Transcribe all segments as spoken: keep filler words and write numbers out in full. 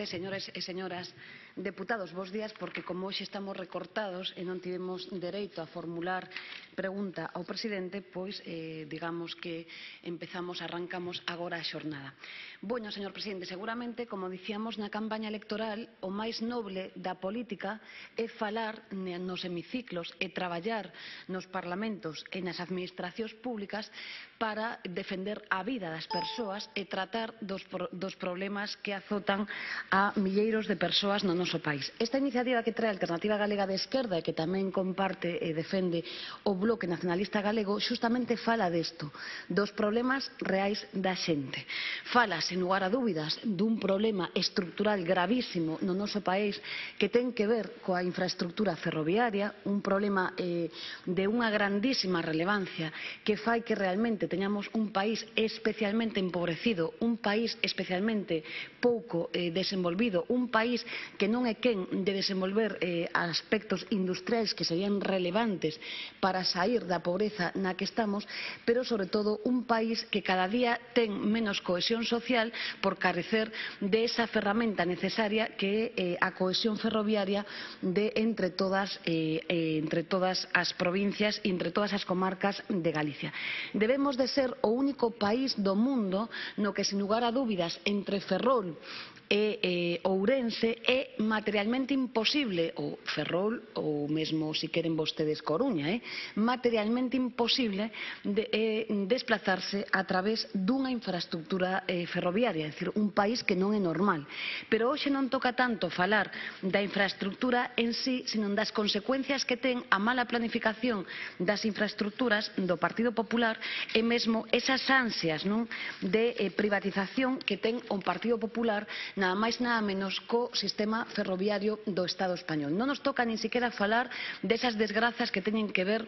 presidente, señores e señoras deputados, bos días, porque como hoxe estamos recortados e non tivemos dereito a formular pregunta ao presidente, pois eh, digamos que empezamos, arrancamos agora a xornada. Bueno, señor presidente, seguramente, como dicíamos na campaña electoral, o máis noble da política é falar nos hemiciclos e traballar nos parlamentos e nas administracións públicas para defender a vida das persoas e tratar dos, dos problemas que azotan a milleiros de persoas no noso país. Esta iniciativa que trae a Alternativa Galega de Esquerda e que tamén comparte e defende o Bloque Nacionalista Galego xustamente fala desto, dos problemas reais da xente. Fala, sen lugar a dúbidas, dun problema estructural gravísimo no noso país que ten que ver coa infraestructura ferroviaria, un problema eh, de unha grandísima relevancia que fai que realmente teñamos un país especialmente empobrecido, un país especialmente pouco eh, desenvolvido, un país que non é quen de desenvolver eh, aspectos industriais que serían relevantes para sair da pobreza na que estamos, pero sobre todo un país que cada día ten menos cohesión social por carecer de esa ferramenta necesaria que é eh, a cohesión ferroviaria de entre todas, eh, eh, entre todas as provincias e entre todas as comarcas de Galicia. Debemos de ser o único país do mundo no que, sen lugar a dúbidas, entre Ferrol e eh, Ourense é materialmente imposible, ou Ferrol, ou mesmo, se queren vostedes, Coruña, eh, materialmente imposible de, eh, desplazarse a través dunha infraestructura eh, ferroviaria, é dicir, un país que non é normal. Pero hoxe non toca tanto falar da infraestructura en sí, sino das consecuencias que ten a mala planificación das infraestructuras do Partido Popular e mesmo esas ansias, non, de eh, privatización que ten o Partido Popular nada máis nada menos co sistema ferroviario do Estado español. Non nos toca nin siquiera falar desas desgrazas que teñen que ver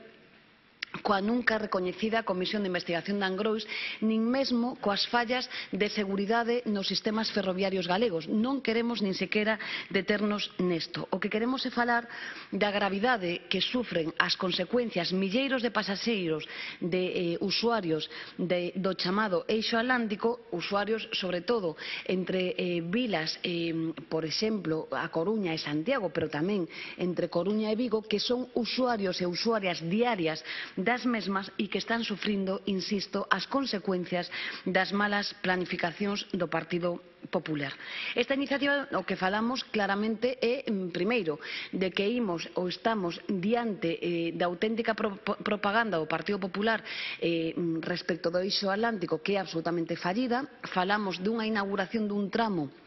coa nunca recoñecida Comisión de Investigación de Angrois, nin mesmo coas fallas de seguridade nos sistemas ferroviarios galegos. Non queremos nin sequera deternos nesto. O que queremos é falar da gravidade que sufren as consecuencias milleiros de pasaxeiros, de eh, usuarios de, do chamado Eixo Atlántico, usuarios sobre todo entre eh, vilas, eh, por exemplo, a Coruña e Santiago, pero tamén entre Coruña e Vigo, que son usuarios e usuarias diarias das mesmas e que están sufrindo, insisto, as consecuencias das malas planificacións do Partido Popular. Esta iniciativa o que falamos claramente é, primeiro, de que imos ou estamos diante eh, da auténtica pro, propaganda do Partido Popular eh, respecto do Eixo Atlántico, que é absolutamente fallida. Falamos dunha inauguración dun tramo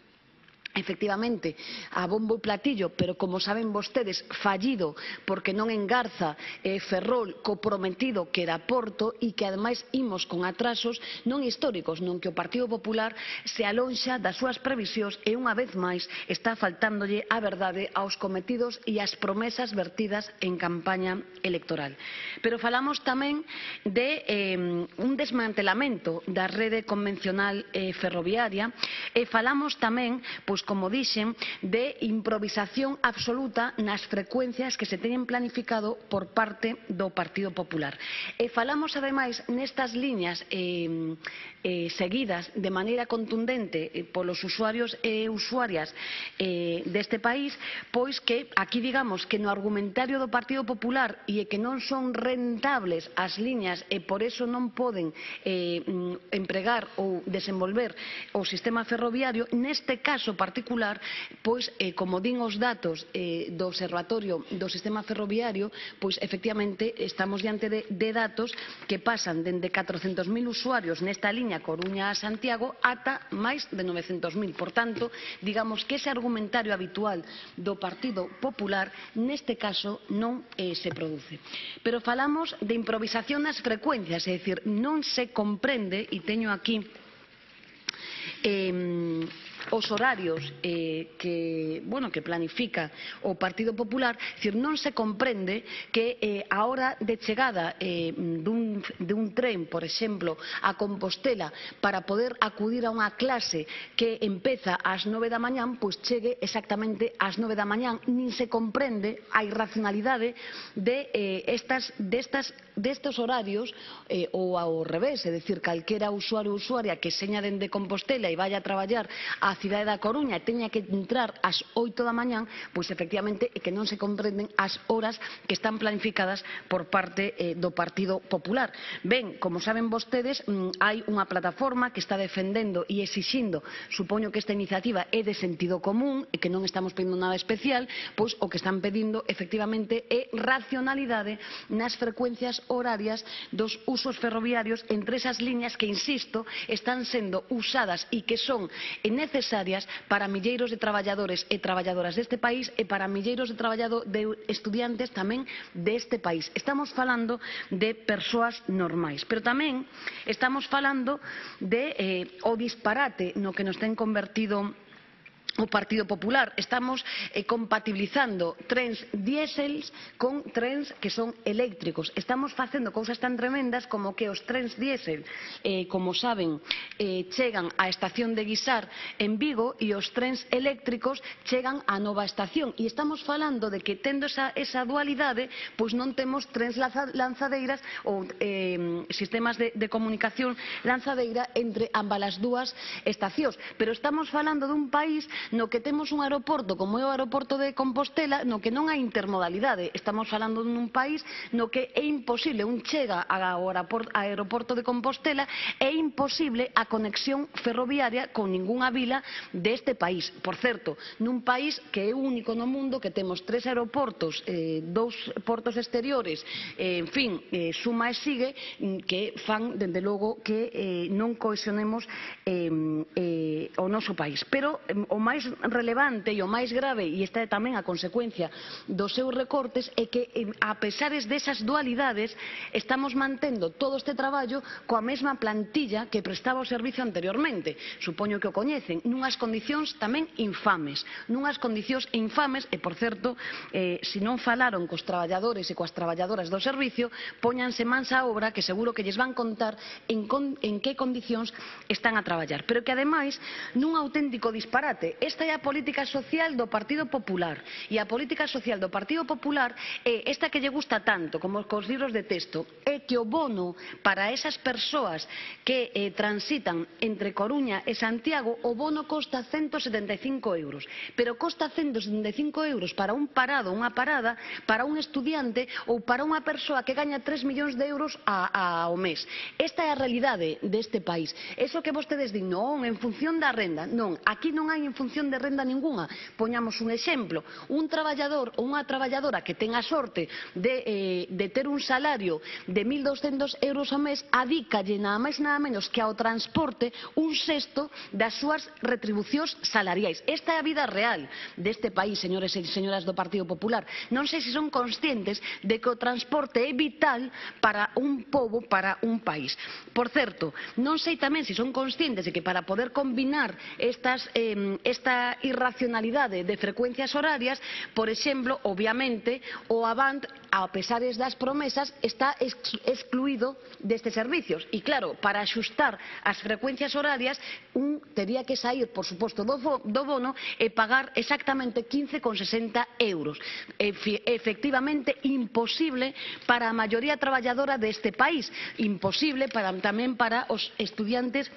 efectivamente a bombo e platillo, pero como saben vostedes, fallido porque non engarza eh, Ferrol co prometido que era Porto e que ademais imos con atrasos non históricos, non que o Partido Popular se alonxa das súas previsións e unha vez máis está faltándolle a verdade aos cometidos e ás promesas vertidas en campaña electoral. Pero falamos tamén de eh, un desmantelamento da rede convencional eh, ferroviaria e falamos tamén, pois como dixen, de improvisación absoluta nas frecuencias que se teñen planificado por parte do Partido Popular. E falamos, ademais, nestas liñas eh, eh, seguidas de maneira contundente eh, polos usuarios e usuarias eh, deste país, pois que aquí digamos que no argumentario do Partido Popular e que non son rentables as liñas e por eso non poden eh, empregar ou desenvolver o sistema ferroviario, neste caso particular particular, pois, eh, como din os datos eh, do Observatorio do Sistema Ferroviario, pois, efectivamente, estamos diante de, de datos que pasan dende catrocentos mil usuarios nesta liña Coruña a Santiago ata máis de novecentos mil. Por tanto, digamos que ese argumentario habitual do Partido Popular neste caso non eh, se produce. Pero falamos de improvisación nas frecuencias, é dicir, non se comprende, e teño aquí eh, os horarios eh, que, bueno, que planifica o Partido Popular, decir, non se comprende que eh, a hora de chegada eh, dun, dun tren, por exemplo, a Compostela, para poder acudir a unha clase que empeza ás nove da mañán, pois chegue exactamente ás nove da mañán. Nin se comprende a irracionalidade de eh, estas, destas, destes horarios eh, ou ao revés, é dicir, calquera usuario ou usuaria que seña dende Compostela e vaya a traballar a cidade da Coruña e teña que entrar ás oito da mañán, pois efectivamente é que non se comprenden as horas que están planificadas por parte eh, do Partido Popular. Ben, como saben vostedes, hai unha plataforma que está defendendo e exixindo, supoño que esta iniciativa é de sentido común e que non estamos pedindo nada especial, pois o que están pedindo efectivamente é racionalidade nas frecuencias horarias dos usos ferroviarios entre esas liñas que, insisto, están sendo usadas e que son necesarias para milleiros de traballadores e traballadoras deste país e para milleiros de, de estudiantes tamén deste país. Estamos falando de persoas normais, pero tamén estamos falando de eh, o disparate no que nos ten convertido o Partido Popular. Estamos eh, compatibilizando trens diésels con trens que son eléctricos. Estamos facendo cousas tan tremendas como que os trens diésel, eh, como saben, eh, chegan á estación de Guisar en Vigo e os trens eléctricos chegan á nova estación. E estamos falando de que, tendo esa, esa dualidade, pois non temos trens lanzadeiras ou eh, sistemas de, de comunicación lanzadeira entre ambas as dúas estacións. Pero estamos falando dun país no que temos un aeroporto como é o aeroporto de Compostela, no que non hai intermodalidade. Estamos falando dun país no que é imposible, un chega ao aeroporto de Compostela, é imposible a conexión ferroviaria con ningunha vila deste país. Por certo, nun país que é único no mundo, que temos tres aeroportos, eh, dous portos exteriores, eh, en fin, eh, suma e sigue, que fan, dende logo, que eh, non cohesionemos eh, eh, o noso país. Pero eh, o máis relevante e o máis grave, e esta é tamén a consecuencia dos seus recortes, é que, a pesares desas dualidades, estamos mantendo todo este traballo coa mesma plantilla que prestaba o servicio anteriormente. Supoño que o coñecen, nunhas condicións tamén infames, nunhas condicións infames, e, por certo, eh, se non falaron cos traballadores e coas traballadoras do servicio, póñanse mans á obra, que seguro que lles van contar en, con, en que condicións están a traballar. Pero que, ademais, nun auténtico disparate. Esta é a política social do Partido Popular, e a política social do Partido Popular é esta que lle gusta tanto como cos libros de texto, é que o bono para esas persoas que eh, transitan entre Coruña e Santiago, o bono costa ciento setenta e cinco euros, pero costa ciento setenta e cinco euros para un parado, unha parada, para un estudiante ou para unha persoa que gaña tres millóns de euros a, a, ao mes. Esta é a realidade deste país. Eso que vostedes din, non, en función da renda, non, aquí non hai en función de renda ningunha. Poñamos un exemplo, un traballador ou unha traballadora que ten a sorte de, eh, de ter un salario de mil douscentos euros ao mes, adícalle nada máis nada menos que ao transporte un sexto das súas retribucións salariais. Esta é a vida real deste país, señores e señoras do Partido Popular. Non sei se son conscientes de que o transporte é vital para un pobo, para un país. Por certo, non sei tamén se son conscientes de que para poder combinar estas eh, esta irracionalidade de frecuencias horarias, por exemplo, obviamente, o Avant, a pesares das promesas, está excluído destes servicios. E claro, para axustar as frecuencias horarias, un tería que sair, por suposto, do, do bono e pagar exactamente quince con sesenta euros. Efectivamente, imposible para a maioría traballadora deste país, imposible para, tamén para os estudiantes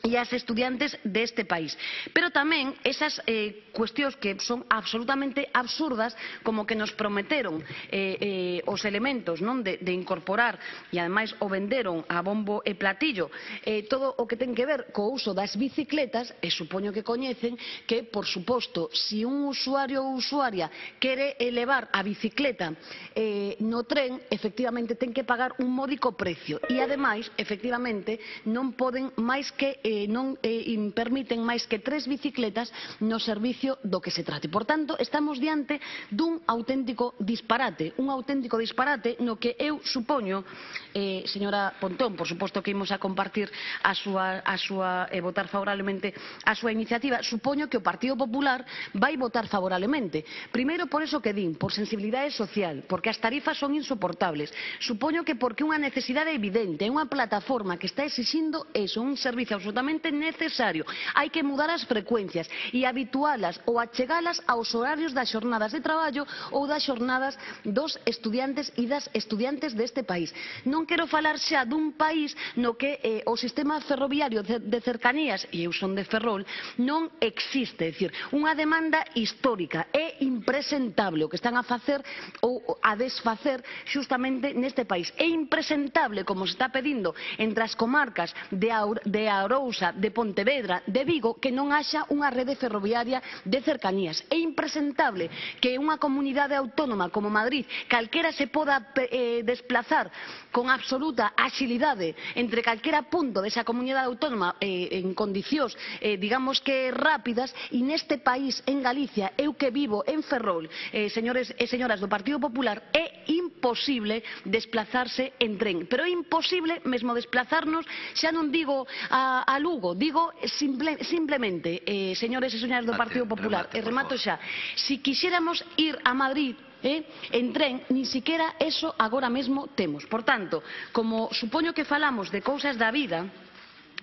e as estudiantes deste país. Pero tamén esas eh, cuestións que son absolutamente absurdas, como que nos prometeron eh, eh, os elementos, non, de, de incorporar, e ademais o venderon a bombo e platillo, eh, todo o que ten que ver co uso das bicicletas, e supoño que coñecen que, por suposto, se un usuario ou usuaria quere elevar a bicicleta eh, no tren, efectivamente ten que pagar un módico precio, e ademais, efectivamente, non poden máis que eh, non eh, permiten máis que tres bicicletas no servicio do que se trate. Por tanto, estamos diante dun auténtico disparate, un auténtico disparate no que eu supoño, eh, señora Pontón, por suposto que imos a compartir a súa, a súa, e eh, votar favorablemente a súa iniciativa, supoño que o Partido Popular vai votar favorablemente. Primeiro, por eso que din, por sensibilidade social, porque as tarifas son insoportables. Supoño que porque unha necesidade evidente, é unha plataforma que está exixindo eso, un servicio aos absolutamente necesario. Hai que mudar as frecuencias e habitualas ou achegalas aos horarios das xornadas de traballo ou das xornadas dos estudiantes e das estudiantes deste país. Non quero falar xa dun país no que eh, o sistema ferroviario de, de cercanías, e eu son de Ferrol, non existe. É dicir, unha demanda histórica. É impresentable o que están a facer ou a desfacer xustamente neste país. É impresentable como se está pedindo entre as comarcas de, Aur de Arousa, de Pontevedra, de Vigo, que non haxa unha rede ferroviaria de cercanías. É impresentable que unha comunidade autónoma como Madrid calquera se poda eh, desplazar con absoluta axilidade entre calquera punto desa comunidade autónoma eh, en condicións, eh, digamos que rápidas, e neste país, en Galicia, eu que vivo en Ferrol, eh, señores e señoras do Partido Popular, é imposible desplazarse en tren. Pero é imposible mesmo desplazarnos, xa non digo a, a Lugo, digo simple, simplemente, eh, señores e señoras do Partido Popular, e remato xa, si quixéramos ir a Madrid Eh? en tren, nin siquiera eso agora mesmo temos. Por tanto, como supoño que falamos de cousas da vida,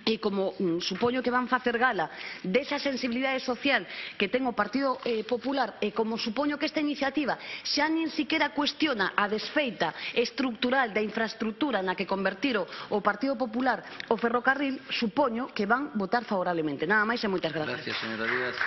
e como mm, supoño que van facer gala desa sensibilidade social que ten o Partido eh, Popular, e como supoño que esta iniciativa xa nin siquiera cuestiona a desfeita estructural da infraestructura na que convertir o Partido Popular o ferrocarril, supoño que van votar favorablemente. Nada máis e moitas grazas. Gracias, señora Díaz.